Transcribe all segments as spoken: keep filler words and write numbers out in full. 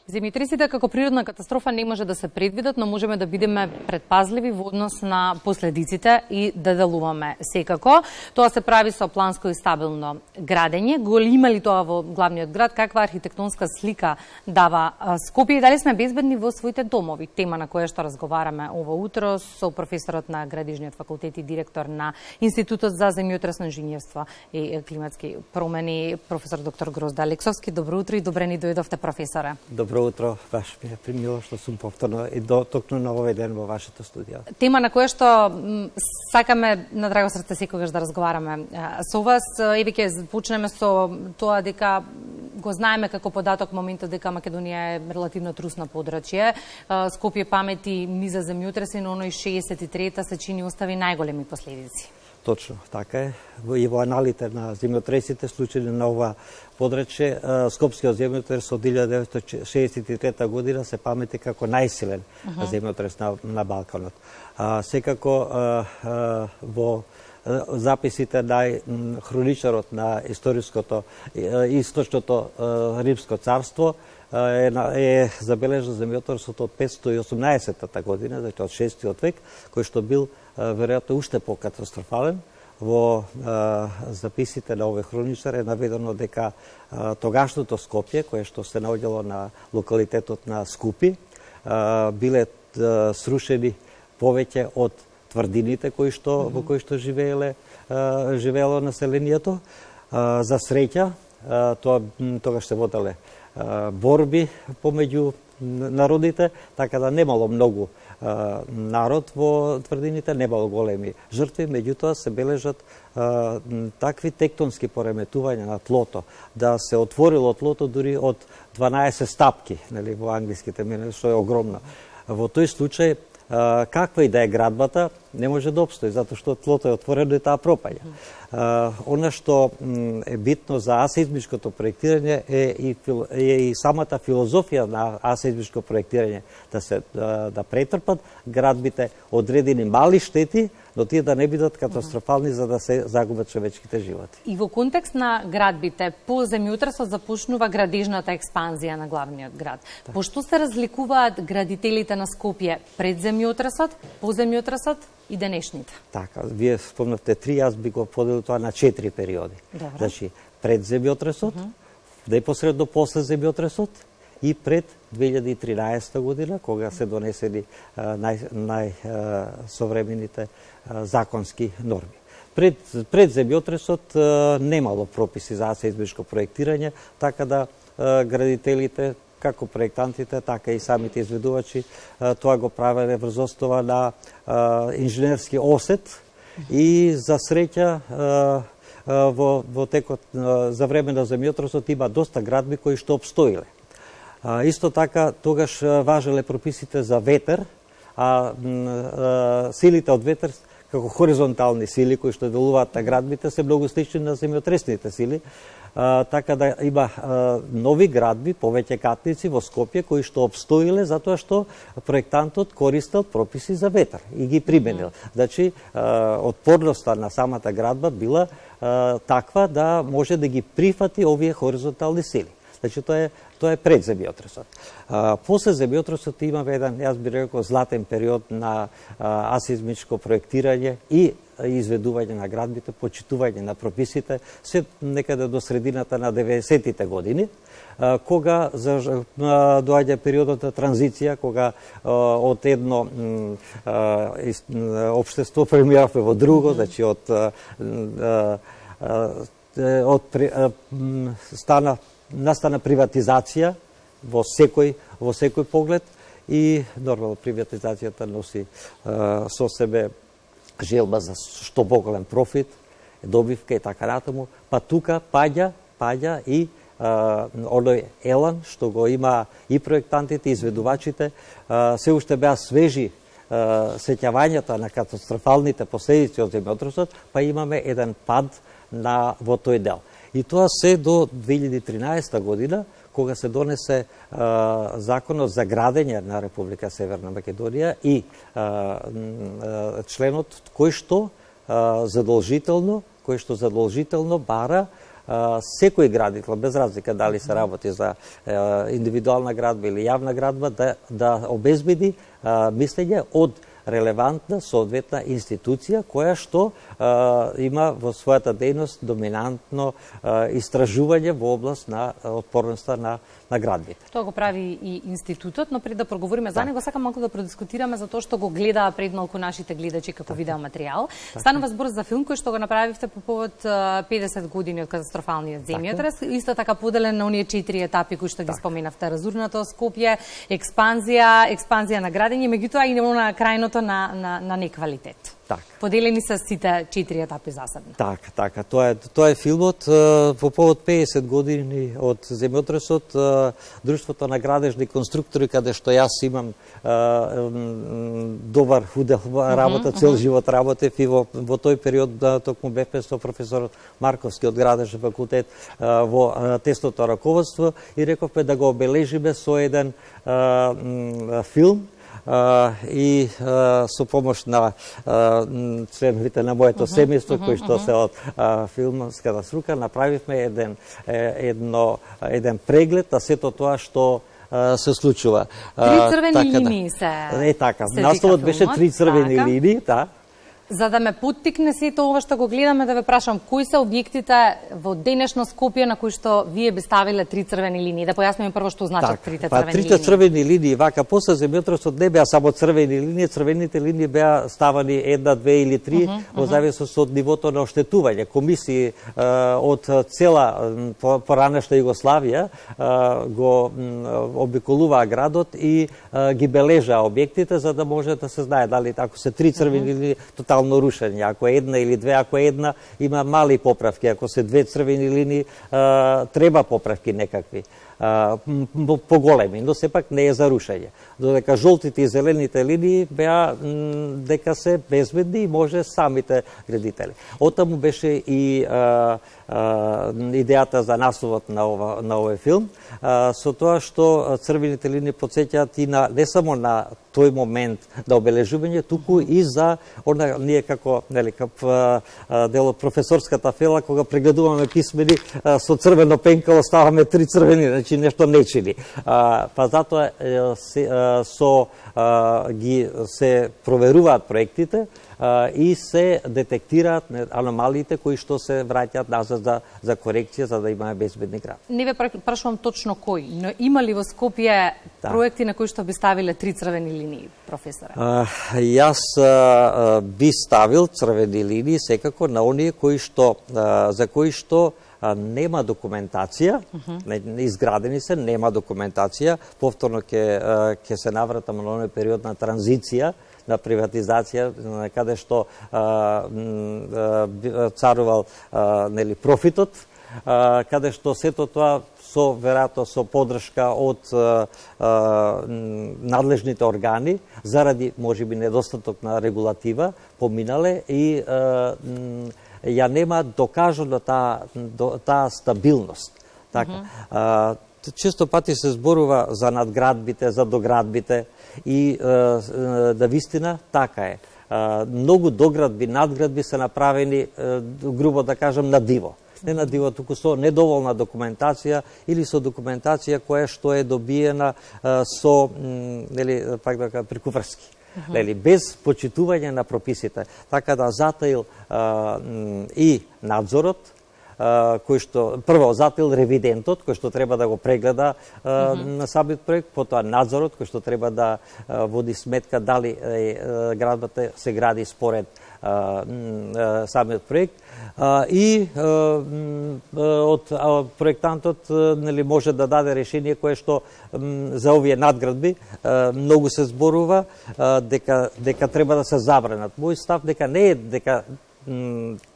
Земјотресите како природна катастрофа не може да се предвидат, но можеме да бидеме предпазливи во однос на последиците и да делуваме секако. Тоа се прави со планско и стабилно градење. Го има ли тоа во главниот град? Каква архитектонска слика дава Скопје и дали сме безбедни во своите домови? Тема на која што разговараме ово утро со професорот на Градежниот факултет и директор на Институтот за земјотресно инженерство и климатски промени, професор доктор Грозда Алексовски. Добро утро и добре ни дојдовте, професоре. Добро утро, баш ми е примило што сум повторно и до токму на овој ден во вашето студио. Тема на која што сакаме на драго срце секогаш да разговараме со вас. Еве ќе почнеме со тоа дека го знаеме како податок моментот дека Македонија е релативно трусно подрачје. Скопје памети низа земјотреси, но оној шеесет и трета се чини остави најголеми последици. Точно, така е. И во аналите на земјотресите случаи на ова подрачје, Скопскиот земјотрес од илјада деветстотини шеесет и трета година се памети како најсилен uh -huh. земјотрес на, на Балканот. А, секако а, а, во записите на хроничарот на историското источното Римско царство е, е забележен земјотресот од петстотини и осумнаесетта година, значи од шестиот век, кој што бил веројатно уште покатастрофален. Во а, записите на овој хроничар е наведено дека а, тогашното Скопје, кое што се наоѓало на локалитетот на Скупи, а, биле а, срушени повеќе од тврдините кои што mm -hmm. во кои што живееле а, живеело населението. А, за среќа, а, тоа тогаш се воделе а, борби помеѓу народите, така да немало многу а, народ во тврдините, немало големи жртви, меѓутоа се бележат а, такви тектонски пореметувања на тлото, да се отворило тлото дури од дванаесет стапки, нели, во англиски термини, што е огромно. Во тој случај, а, каква и да е градбата, не може да обстои, затоа што тлото е отворено и таа пропаѓа. Uh, она што е битно за асеизмичкото проектирање е и, е и самата филозофија на асеизмичко проектирање, да се да, да претрпат градбите одредени мали штети, но тие да не бидат катастрофални за да се загубат човечките животи. И во контекст на градбите, по земјотресот започнува градежната експанзија на главниот град. Да. Пошто се разликуваат градителите на Скопје пред земјотресот, по земјотресот и денешните? Така, вие спомнавте три, јас би го поделил тоа на четири периоди. Добре. Значи, пред земјотресот, uh -huh. непосредно после земјотресот и пред две илјади и тринаесетта година, кога се донесени најсовремените законски норми. Пред, пред земјотресот немало прописи за асеизмичко проектирање, така да градителите, како проектантите, така и самите изведувачи, тоа го правеле врз основа на инженерски осет и за среќа во, во текот за време на земјотресот има доста градби кои што обстоиле. Исто така, тогаш важеле прописите за ветер, а силите од ветер како хоризонтални сили кои што делуваат на градбите се многу слични на земјотресните сили. Uh, така да има uh, нови градби, повеќе катници во Скопје кои што обстоиле затоа што проектантот користел прописи за ветер и ги применил. Mm. Значи, uh, отпорноста на самата градба била uh, таква да може да ги прифати овие хоризонтални сили. Значи, тоа е, тоа е пред земјотресот. Uh, после земјотресот имаме еден, јас би рекол, златен период на uh, асеизмичко проектирање и изведување на градбите, почитување на прописите, се некаде до средината на деветдесеттите години, кога доаѓа периодот на транзиција, кога од едно општество премиравме во друго, значи од од стана настана приватизација во секој во секој поглед и нормално приватизацијата носи со себе желба за што поголем профит, добивка и така натаму, па тука паѓа, паѓа и а, оној елан што го има и проектантите, и изведувачите, а, се уште беа свежи а, сеќавањата на катастрофалните последици од земјотресот, па имаме еден пад на во тој дел. И тоа се до две илјади и тринаесетта година, кога се донесе а, законот за градење на Република Северна Македонија и а, а, членот кој што а, задолжително, кој што задолжително бара секој градител, без разлика дали се работи за индивидуална градба или јавна градба, да, да обезбеди мислење од релевантна соодветна институција која што а, има во својата дејност доминантно а, истражување во област на отпорноста на на градбите. Тоа го прави и институтот, но пред да проговориме за него, сакам малку да продискутираме за тоа што го гледаа пред малку нашите гледачи како видео материјал. Станува збор за филм кој што го направивте по повод педесет години од катастрофалниот земјотрес, исто така поделен на оние четири етапи кои што ги споменавте: разурнато Скопје, експанзија, експанзија на градење, меѓутоа и на крајното на на на неквалитет. Так. Поделени се сите четири етапи засебно. Така, така. Тоа е тоа е филмот по повод педесет години од земјотресот. Друштвото на градежни конструктори, каде што јас имам добар удел работа, цел живот работев и во, во тој период токму бевме со професорот Марковски од градежен факултет во тесното раководство и рековме да го обележиме со еден филм. Uh, и uh, со помош на uh, членовите на моето uh-huh, семејство, uh-huh, кои што uh-huh. се од uh, филмската струка, направивме еден, едно, еден преглед на сето тоа што uh, се случува. Три црвени така, линии се Е, така. Насловот беше Три црвени така. линии, да. За да ме поттикне сето ова што го гледаме, да ве прашам, кои се објектите во денешно Скопје на кои што вие би ставиле три црвени линии? Да појасниме прво што значат так, трите па, црвени трите линии. Трите црвени линии, вака, после земјотресот не беа само црвени линии, црвените линии беа ставани една, две или три, uh -huh, во uh -huh. зависност од нивото на оштетување. Комисии uh, од цела поранешна Југославија uh, го обиколуваа градот и uh, ги бележаа објектите, за да може да се знае дали ако се три црвени uh -huh. линии, тотално рушење. Ако е една или две, ако е една, има мали поправки. Ако се две црвени линии, а, треба поправки некакви. А, поголеми, но сепак не е за рушење. Додека жолтите и зелените линии беа дека се безбедни и може самите градители. Отаму беше и а, а, идејата за насловот на ова на овој филм, а, со тоа што црвените линии потсеќаат и на не само на тој момент на обележување, туку и за она ние како нели како дел од професорската фела кога прегледуваме писмени со црвено пенкало ставаме три црвени, значи нешто не чини. А, па затоа се, со а, ги се проверуваат проектите а, и се детектираат аномалиите кои што се враќаат назад за за корекција за да имаме безбедни гради. Не ве прашувам точно кој, но има ли во Скопје да. проекти на кои што би ставиле три црвени линии, професоре? А, јас а, би ставил црвени линии секако на оние кои што а, за кои што нема документација, uh -huh. изградени се, нема документација, повторно ќе ќе се навратам на оној период на транзиција, на приватизација, каде што а, а, царувал а, нели профитот, а, каде што сето тоа со веројатно со поддршка од а, а, надлежните органи заради можеби недостаток на регулатива поминале и а, ја нема докажано таа таа стабилност. Така. Uh -huh. а, често пати се зборува за надградбите, за доградбите и а, да вистина така е. А, многу доградби, надградби се направени, а, грубо да кажам, на диво. Не на диво, туку со недоволна документација или со документација која што е добиена а, со, нели, пак да кажам, прикуврски. Uh -huh. Нели, без почитување на прописите. Така да затаил а, и надзорот, а, кој што прво затаил ревидентот кој што треба да го прегледа а, uh -huh. на самиот проект, потоа надзорот кој што треба да а, води сметка дали е, градбата се гради според а, а, самиот проект а, и а, од а, проектантот нели може да даде решение кое што м, за овие надградби а, многу се зборува а, дека дека треба да се забранат. Мој став дека не е дека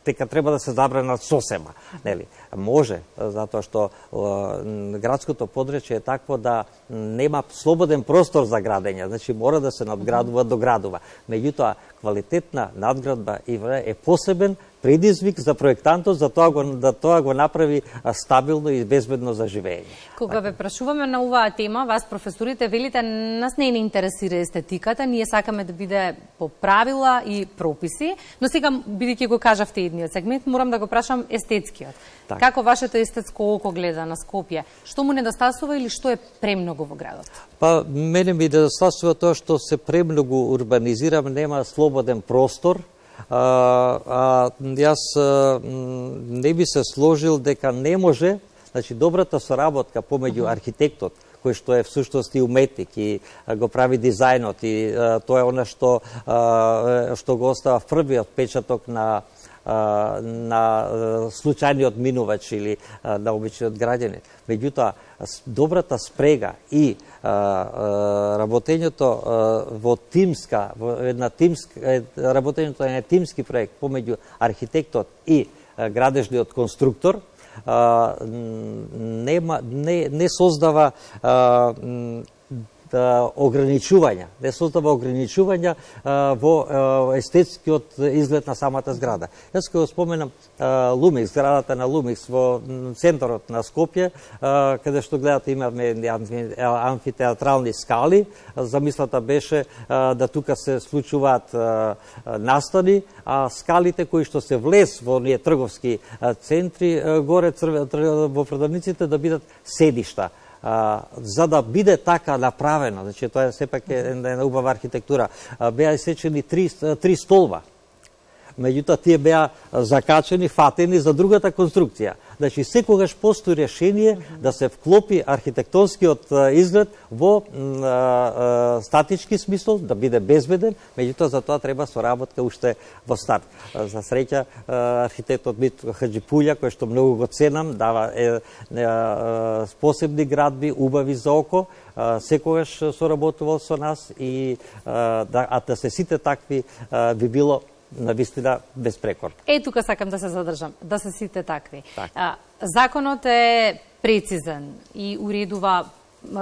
дека треба да се забранат сосема, нели? Може, затоа што е, градското подречје е такво да нема слободен простор за градење, значи мора да се надградува, доградува. Меѓутоа, квалитетна надградба е посебен предизвик за проектантот, за тоа го, да тоа го направи стабилно и безбедно за живење. Кога ве прашуваме на оваа тема, вас професорите велите, нас не ни интересира естетиката, ние сакаме да биде по правила и прописи, но сега, бидејќи го кажавте идниот сегмент, морам да го прашам естетскиот. Так. Како вашето естетско око гледа на Скопје? Што му недостасува или што е премногу во градот? Па, мене ми недостасува тоа што се премногу урбанизирам, нема слободен простор. А, а, јас а, не би се сложил дека не може, значи добрата соработка помеѓу архитектот, кој што е всушност и уметник и го прави дизајнот и а, тоа е она што а, што го остава првиот печаток на а, на случајниот минувач или а, на обичниот граѓанин. Меѓутоа, добрата спрега и а, а, работењето а, во тимска, во една тимска, работењето е тимски проект помеѓу архитектот и а, градежниот конструктор, а, нема, не, не создава а, ограничувања, не создава ограничувања а, во а, естетскиот изглед на самата зграда. Јас кога споменам а, Лумикс, зградата на Лумикс во центарот на Скопје, а, каде што гледате имаме амфитеатрални скали, замислата беше а, да тука се случуваат а, настани, а скалите кои што се влез во оние трговски а, центри, а, горе црве, во продавниците да бидат седишта. А, за да биде така направено, значи тоа е сепак е една убава архитектура, а, беа исечени три, три столба. Меѓутоа тие беа закачени, фатени за другата конструкција. Значи секогаш постои решение да се вклопи архитектонскиот изглед во а, а, статички смисол, да биде безбеден, меѓутоа за тоа треба соработка уште во старт. За среќа архитектот Мит Хаџипулја, кој што многу го ценам, дава е, е, е, посебни градби, убави за око, а, секогаш соработувал со нас и а, да, а да се сите такви а, би било навистина безпрекорно. Е, тука сакам да се задржам, да се сите такви. Так. А, законот е прецизен и уредува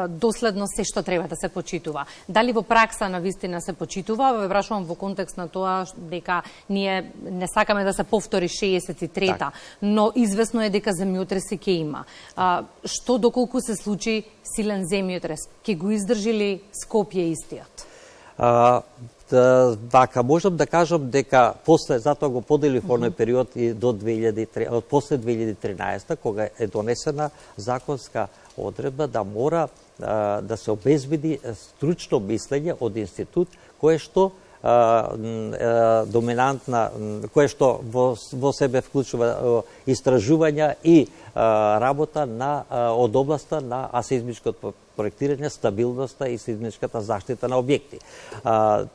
доследно се што треба да се почитува. Дали во пракса на вистина се почитува? Ве прашувам во контекст на тоа дека ние не сакаме да се повтори шеесет и трета, так. Но известно е дека земјотреси ќе има. А, што доколку се случи силен земјотрес, ќе го издржи ли Скопје истиот? А, Вака, можам да кажам дека после, затоа го поделив во оној период и до две илјади и тринаесета, после две илјади и тринаесета, кога е донесена законска одредба да мора а, да се обезбеди стручно мислење од институт кој што а, а, доминантна, кое што во, во себе вклучува а, истражувања и а, работа на, а, од областа на асеизмичкото проектирање, стабилноста и сеизмичката заштита на објекти. А,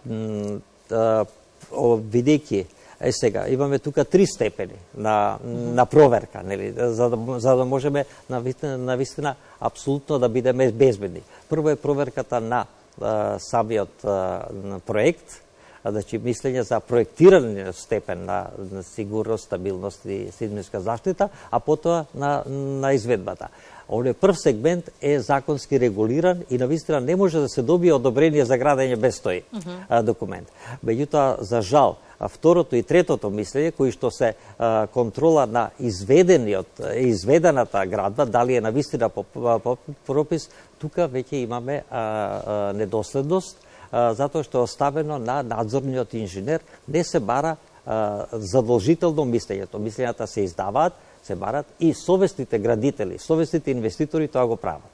а, видејќи, е сега, имаме тука три степени на, на проверка, нели, за да, за да можеме на, на вистина апсолутно да бидеме безбедни. Прво е проверката на а, самиот а, проект, значи мислење за проектирање степен на, на сигурност, стабилност и сеизмичка заштита, а потоа на, на изведбата. Овој прв сегмент е законски регулиран и навистина не може да се добие одобрение за градење без тој uh -huh. документ. Меѓутоа, за жал, второто и третото мислење, кои што се а, контрола на изведениот, изведената градба, дали е навистина по, по пропис, тука веќе имаме а, а, недоследност, а, затоа што е оставено на надзорниот инженер, не се бара а, задолжително мислењето. Мислењата се издаваат, се барат и совестните градители, совестните инвеститори тоа го прават.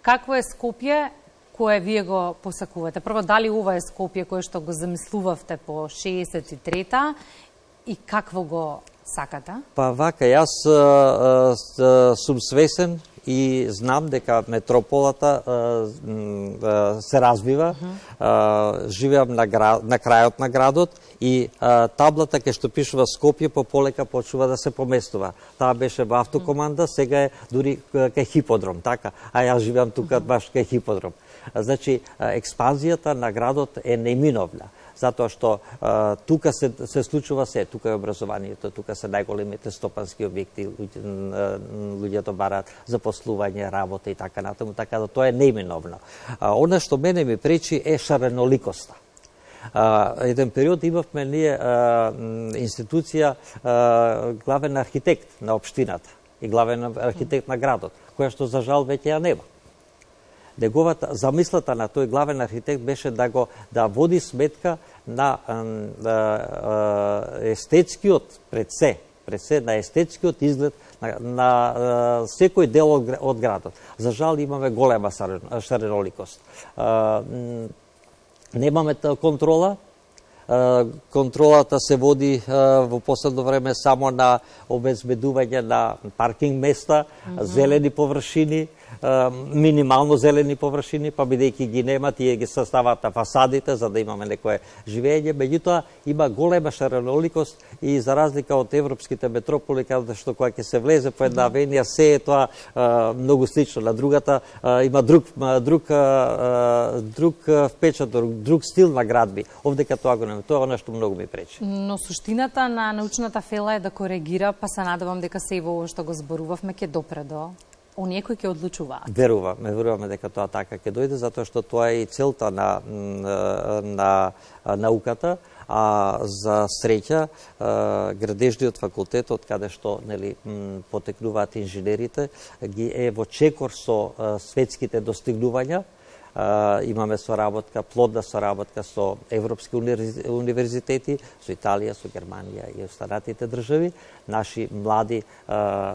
Какво е Скопје кое вие го посакувате? Прво, дали ова е Скопје кое што го замислувавте по шеесет и трета и какво го сакате? Па вака, јас а, а, сум свесен и знам дека метрополата а, а, се развива. Uh-huh. а, живеам на, град, на крајот на градот и а, таблата кај што пишува Скопје пополека почнува да се поместува. Таа беше во автокоманда, сега е дури кај хиподром, така? А јас живеам тука uh-huh. баш кај хиподром. Значи, експанзијата на градот е неминовна, затоа што а, тука се, се случува се, тука е образованието, тука се најголемите стопански објекти, луѓето бараат запослување, работа и така натаму, така да тоа е неминовно. А, она што мене ми пречи е шареноликоста. А, еден период имавме ние а, институција а, главен архитект на општината и главен архитект на градот, која што за жал веќе ја нема. неговата замислата на тој главен архитект беше да го да води сметка на естетскиот пред се, пред се на естетскиот изглед на, на секој дел од, од градот. За жал имаме голема шареноликост. Немаме контрола. Контролата се води во последно време само на обезбедување на паркинг места, mm -hmm. зелени површини, минимално зелени површини, па бидејќи ги нема, тие ги состават на фасадите за да имаме некое живење. Меѓутоа има голема шареноликост и за разлика од европските метрополи, каде што кога ќе се влезе по една авенија, се е тоа многу слично на другата, има друг друг друг впечаток, друг стил на градби. Овдека тоа го нема. Тоа нешто многу ми пречи. Но суштината на научната фела е да коригира, па се надевам дека се и во ово што го зборувавме ќе допре до оние кои ќе одлучуваат. Веруваме, веруваме дека тоа така ќе дојде, затоа што тоа е и целта на, на, на науката, а за среќа градежниот факултет, од каде што нели потекнуваат инженерите, ги е во чекор со светските достигнувања. Uh, имаме соработка, плодна соработка со европски универзитети, со Италија, со Германија и останатите држави. Наши млади uh,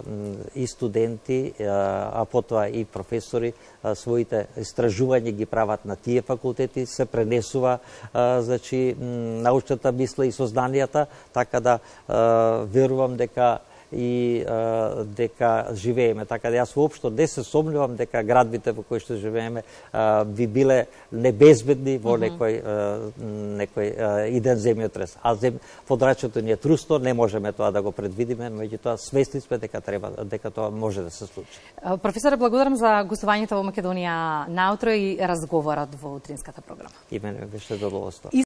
и студенти, uh, а потоа и професори, uh, своите истражувања ги прават на тие факултети, се пренесува uh, значи, научната мисла и сознанијата, така да uh, верувам дека и а, дека живееме. Така да јас воопшто не се сомневам дека градбите во кои што живееме а, би биле небезбедни во mm -hmm. некој, а, некој а, иден земјотрес. А зем... подрачјето ни е трусто, не можеме тоа да го предвидиме, меѓутоа свесни сме дека треба дека тоа може да се случи. Професоре, благодарам за гостувањето во Македонија наутро и разговорот во утринската програма. И мене беше задоволство.